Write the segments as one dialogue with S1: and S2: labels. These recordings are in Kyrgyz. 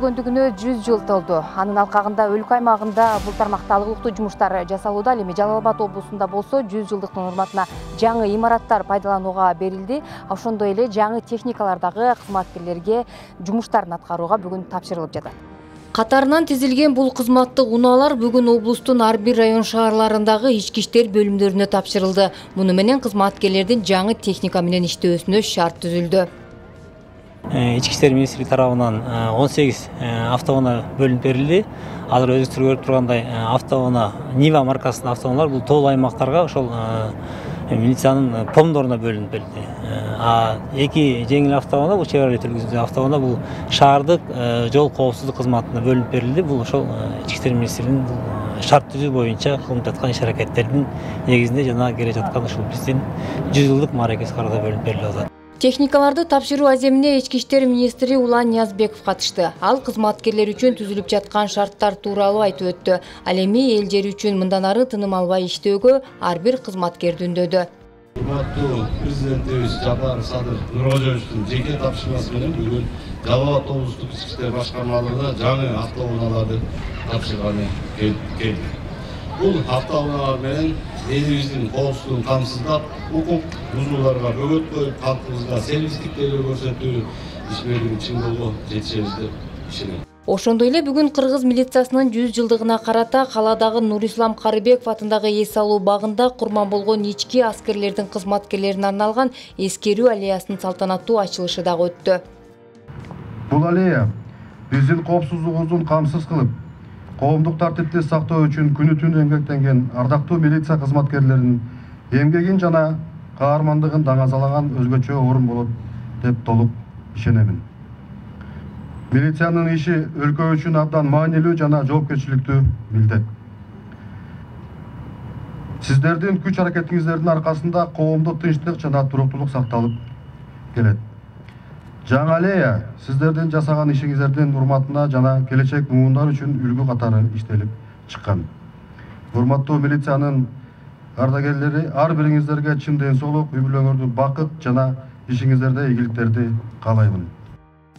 S1: түзүлгөндүгүнө 100 жыл толду. Анын алкагында өлкө аймагында бул тармакта алгылыктуу жумуштар жасалууда. Ал эми Жалал Абад облусунда болсо 100 жылдыктын урматына жаңы имараттар пайдаланууга берилди. Ошондой эле жаңы техникалар дагы кызматкерлерге жумуштарын аткарууга бүгүн тапшырылып жатат. Катарынан тизилген бул кызматтык унаалар бүгүн облустун ар бир район шаарларындагы ички иштер бөлүмдөрүнө тапшырылды. Муну менен кызматкерлердин жаңы техника менен иштөөсүнө шарт түзүлдү.
S2: Ички иштер министрлиги тарабынан 18 автоунаа бөлүнүп берилди. Азыр өзүңүздөр көрүп тургандай автоунаа Нива маркасынын автоунаалар бул тоо аймактарга ошол милициянын помдоруна бөлүнүп берилди. Эки жеңил автоунаа, бул Chevrolet үлгүсүндөгү автоунаа бул шаардык жол коопсуздук кызматына бөлүнүп берилди. Бул ошол ички иштер министрлигинин шарт түзүү боюнча кылынып жаткан иш-аракеттердин негизинде жана келе жаткан ушул биздин 100 жылдык мааракес кароодо бөлүнүп берилип атат.
S1: Техникаларды тапшыруу аземине ички иштер министри Улан Ниязбеков катышты. Ал кызматкерлер үчүн түзүлүп жаткан шарттар тууралуу айтып өттү. Ал эми эл жери үчүн мындан ары тыным албай иштөөгө ар бир кызматкерди үндөдү.
S3: Урматтуу президентибиз Жапар Садыр Нуркожоевичтин жеке тапшырмасы менен бүгүн Жалал Абад облустук ички иштер башкармалыгына жаңы автоунааларды тапшырганы келди. Бул автоунаалар менен элибиздин коопсуздугун камсыздап, укук бузууларга бөгөт коюп, калкыбызга сервистик тейлөө көрсөтүү ишмердигин чыңдоого жетишебиз деп ишенем.
S1: Ошондой эле бүгүн кыргыз милициясынын 100 жылдыгына карата каладагы Нурислам Карыбеков атындагы эс алуу багында курман болгон ички аскерлердин кызматкерлерине арналган эскерүү аллеясынын салтанаттуу ачылышы дагы өттү.
S4: Бул аллея биздин коопсуздугубуздун камсыз кылып, коомдук тартипти сактоо үчүн күнү түн эмгектенген ардактуу милиция кызматкерлеринин эмгегин жана каармандыгын даңазалаган өзгөчө орун болот деп толук ишенемин. Милициянын иши өлкө үчүн абдан маанилүү жана жоопкерчиликтүү милдет. Сиздердин күч аракетиңиздердин аркасында коомдук тынчтык жана туруктуулук сакталып келет. Жаңы аллея сиздердин жасаган ишиңиздердин урматына жана келечек муундар үчүн үлгү катары иштелип чыккан. Урматтуу милициянын ардагерлери, ар бириңиздерге чын ден соолук, үй бүлөңөрдү бакыт жана ишиңиздерде ийгиликтерди каалаймын.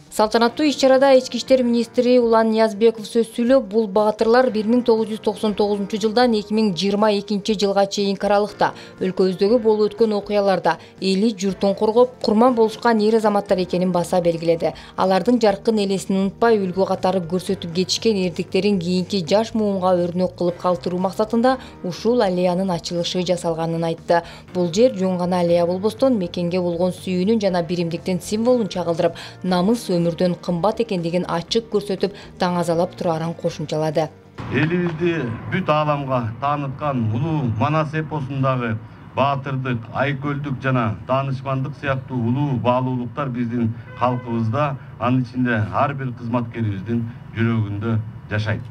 S1: Салтанаттуу иш-чарада ички иштер министри Улан Ниязбеков сөз сүйлөп, бул баатырлар 1999 жылдан 2022 жылга чейинки аралыкта өлкөбүздөгү болуп өткөн окуяларда эли журтун коргоп, курман болушкан эр азаматтар экенин баса белгиледи. Алардын жаркын элесин унутпай, үлгү катары көрсөтүп кетишкен эрдиктерин кийинки жаш муунга өрнөк кылып калтыруу максатында ушул аллеянын ачылышы жасалганын айтты. Бул жер жөн гана аллея болбостон, мекенге болгон сүйүүнүн жана биримдиктин символун чагылдырып, намыс өмүрдөн кымбат экендигин ачык көрсөтүп, таңазалап турарын кошумчалады.
S3: Элибизди бүт ааламга тааныткан улуу Манас эпосундагы баатырдык, айкөлдүк жана даанышмандык сыяктуу улуу баалуулуктар биздин калкыбызда, анын ичинде ар бир кызматкерибиздин жүрөгүндө жашайт.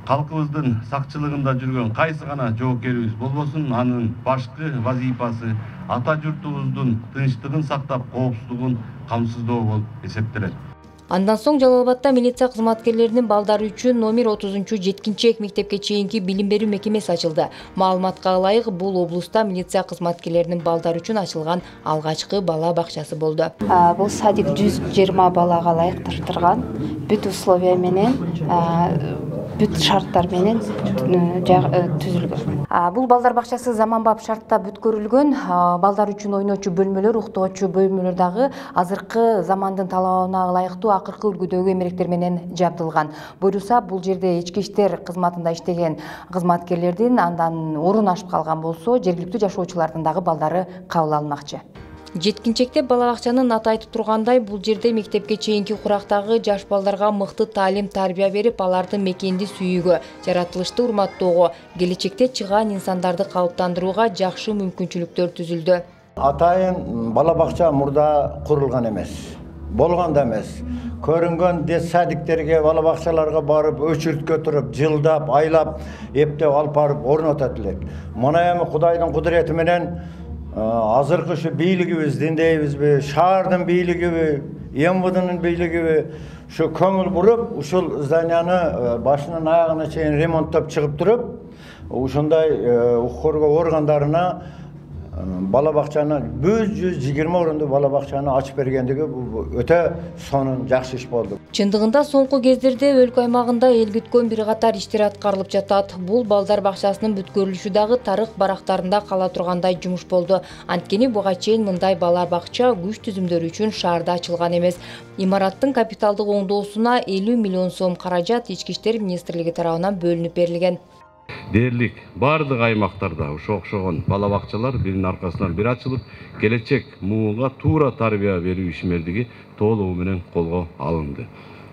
S3: Калкыбыздын сакчылыгында жүргөн кайсы гана жоокерибиз болбосун, анын башкы вазифасы ата журтубуздун тынчтыгын сактап, коопсуздугун камсыздоо болуп эсептелет.
S1: Андан соң Жалал Абадта милиция кызматкерлеринин балдары үчүн номер 30-жеткинчек мектепке чейинки билим берүү мекемеси ачылды. Маалыматка ылайык, бул облуста милиция кызматкерлеринин балдары үчүн ачылган алгачкы бала бакчасы болду.
S5: Бул садик 120 балага ылайыктырган, бүт условия менен, бүт шарттар менен түзүлгөн.
S1: Бул балдар бакчасы заманбап шартта бүткөрүлгөн. Балдар үчүн ойночу бөлмөлөр, уктоочу бөлмөлөр дагы азыркы замандын талабына ылайыктуу акыркы үлгүдөгү эмеректер менен жабдылган. Буюрса, бул жерде ички иштер кызматында иштеген кызматкерлердин андан орун ашып калган болсо, жергиликтүү жашоочулардын дагы балдары кабыл алынмакчы. Жеткинчекте бала бакчанын аты айтып тургандай, бул жерде мектепке чейинки курактагы жаш балдарга мыкты таалим-тарбия берип, аларды мекенди сүйүүгө, жаратылышты урматтоого, келечекте чыгаан инсандарды калыптандырууга жакшы мүмкүнчүлүктөр түзүлдү.
S6: Атайын бала бакча мурда курулган эмес, болгон да эмес. Көрүнгөн детсадиктерге, бала бакчаларга барып, өчүрткө туруп, жылдап, айлап, эптеп алып барып орнотот элек. Мына эми Кудайдын кудурети менен азыркы ушу бийлигибиздин дейбизби, шаардын бийлигиби, МВДнын бийлигиби ушу көңүл буруп, ушул зданияны башынан аягына чейин ремонттоп чыгып туруп, ушундай укук коргоо органдарына бала бакчаны 120 орунду бала бакчаны ачып бергендиги бул өтө сонун жакшы иш болду.
S1: Чындыгында соңку кездерде өлкө аймагында эл күткөн бир катар иштер аткарылып жатат. Бул балдар бакчасынын бүткөрүлүшү дагы тарых барактарында кала тургандай жумуш болду. Анткени буга чейин мындай бала бакча күч түзүмдөрү үчүн шаарда ачылган эмес. Имараттын капиталдык оңдоосуна 50 миллион сом каражат Ички иштер министрлиги тарабынан бөлүнүп берилген.
S3: Дээрлик бардык аймактарда ошо окшогон бала бакчалар биринин аркасынан бири ачылып, келечек муунга туура тарбия берүү ишмердиги толугу менен колго алынды.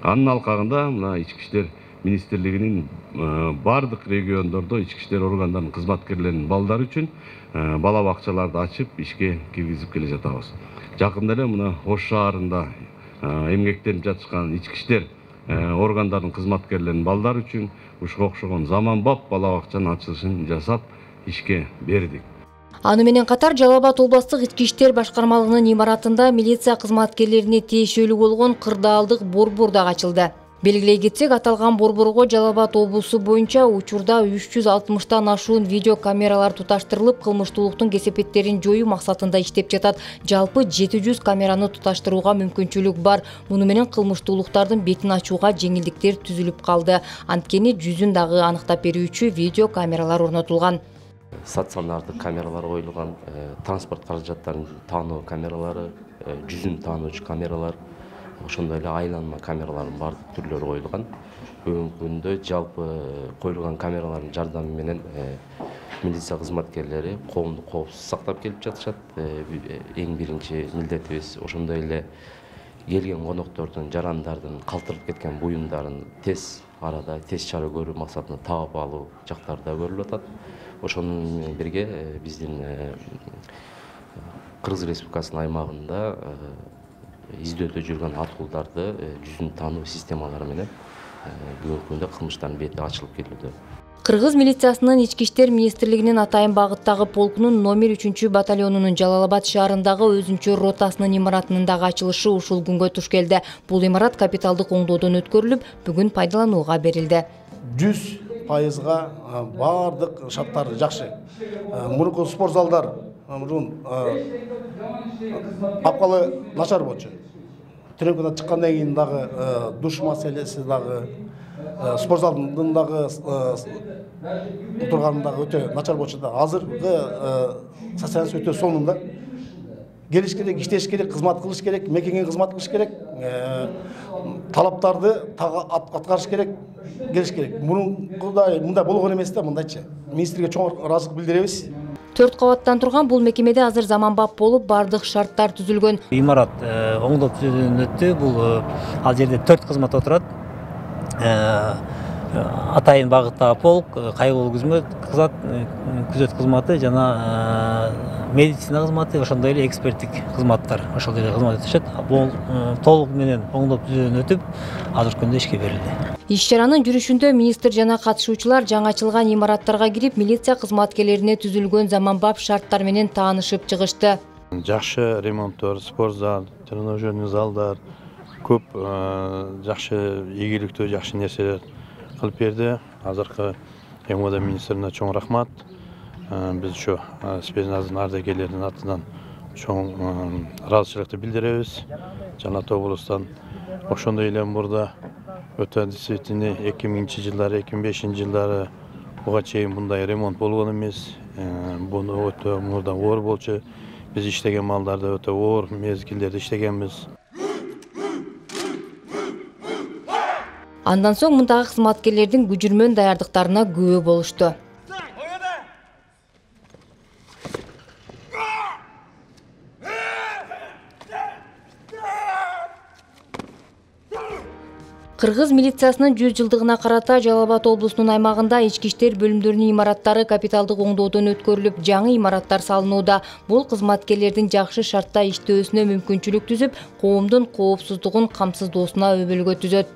S3: Анын алкагында мына Ички иштер министрлигинин бардык региондордо ички иштер органдарынын кызматкерлеринин балдары үчүн бала бакчаларды ачып ишке киргизип келе жатабыз. Жакында эле мына Ош шаарында эмгектенип жатышкан ички иштер органдарынын кызматкерлеринин балдары үчүн ушуга окшогон заманбап бала бакчанын ачылышын жасап ишке бердик.
S1: Аны менен катар Жалал Абад облустук ички иштер башкармалыгынын имаратында милиция кызматкерлерине тиешелүү болгон кырдаалдык борбор дагы ачылды. Белгилей кетсек, аталган борборго Жалал Абад облусу боюнча учурда 360тан ашуун видео камералар туташтырылып, кылмыштуулуктун кесепеттерин жоюу максатында иштеп жатат. Жалпы 700 камераны туташтырууга мүмкүнчүлүк бар. Муну менен кылмыштуулуктардын бетин ачууга жеңилдиктер түзүлүп калды. Анткени жүзүн дагы аныктап берүүчү видео камералар орнотулган.
S7: Стационардык камералар коюлган, транспорт каражаттарын таануу камералары, жүзүн таануучу камералар, ошондой эле айланма камералардын бардык түрлөрү коюлган. Бүгүнкү күндө жалпы коюлган камералардын жардамы менен милиция кызматкерлери коомду коопсуз сактап келип жатышат. Эң биринчи милдетибиз ошондой эле келген коноктордун, жарандардын калтырылып кеткен буюмдарын тез арада тез чара көрүү максатында таап алуу жактары да көрүлүп атат. Ошону менен бирге биздин Кыргыз Республикасынын аймагында издөөдө жүргөн аткулдарды жүзүн таануу системалары менен бүгүнкү күндө кылмыштардын бети ачылып келүүдө.
S1: Кыргыз милициясынын Ички иштер министрлигинин Атайын багыттагы полкунун номер 3 батальонунун Жалал Абад шаарындагы өзүнчө ротасынын имаратынын дагы ачылышы ушул күнгө туш келди. Бул имарат капиталдык оңдоодон өткөрүлүп, бүгүн пайдаланууга берилди.
S8: 100% бардык шарттары жакшы. Мурунку спорт залдар акыбалы начар болчу. Тренировкадан чыккандан кийин дагы душ маселеси дагы, спорт залдын дагы турганы дагы өтө начар болчу да. Азыркы состояние өтө сонунда. Келиш керек, иштеш керек, кызмат кылыш керек, мекенге кызмат кылыш керек, талаптарды аткарыш керек, келиш керек. Мындай болгон эмес да, мындайча. Министрге чоң ыраазычылык билдиребиз.
S1: 4 кабаттан турган бул мекемеде азыр заманбап болуп, бардык шарттар түзүлгөн.
S2: Имарат оңдоп түзүүдөн өттү. Бул ал жерде 4 кызмат отурат. Атайын багыттагы полк, кайгылуу күзөт кызматы жана медицина кызматы, ошондой эле эксперттик кызматтар ошол жерде кызмат өтүшөт. Бул толук менен оңдоп түзүүдөн өтүп, азыркы күндө ишке берилди.
S1: Иш-чаранын жүрүшүндө министр жана катышуучулар жаңы ачылган имараттарга кирип, милиция кызматкерлерине түзүлгөн заманбап шарттар менен таанышып чыгышты.
S9: Жакшы ремонттор, спорт зал, тренажерный залдар, көп жакшы ийгиликтүү, жакшы нерселер кылып берди. Азыркы МВД министрине чоң рахмат. Биз ушу спецназын ардагерлеринин атынан чоң ыраазычылыкты билдиребиз. Жана облустан ошондой эле мурда өтө действительно 2000-жылдары, 2005-жылдары буга чейин мындай ремонт болгон эмес. Буну өтө мурда оор болчу. Биз иштеген малдарды өтө оор мезгилдерде иштегенбиз.
S1: Андан соң мындагы кызматкерлердин күжүрмөн даярдыктарына күбө болушту. Кыргыз милициясынын 100 жылдыгына карата Жалал Абад облусунун аймагында ички иштер бөлүмдөрүнүн имараттары капиталдык оңдоодон өткөрүлүп, жаңы имараттар салынууда. Бул кызматкерлердин жакшы шартта иштөөсүнө мүмкүнчүлүк түзүп, коомдун коопсуздугун камсыздоосуна өбөлгө түзөт.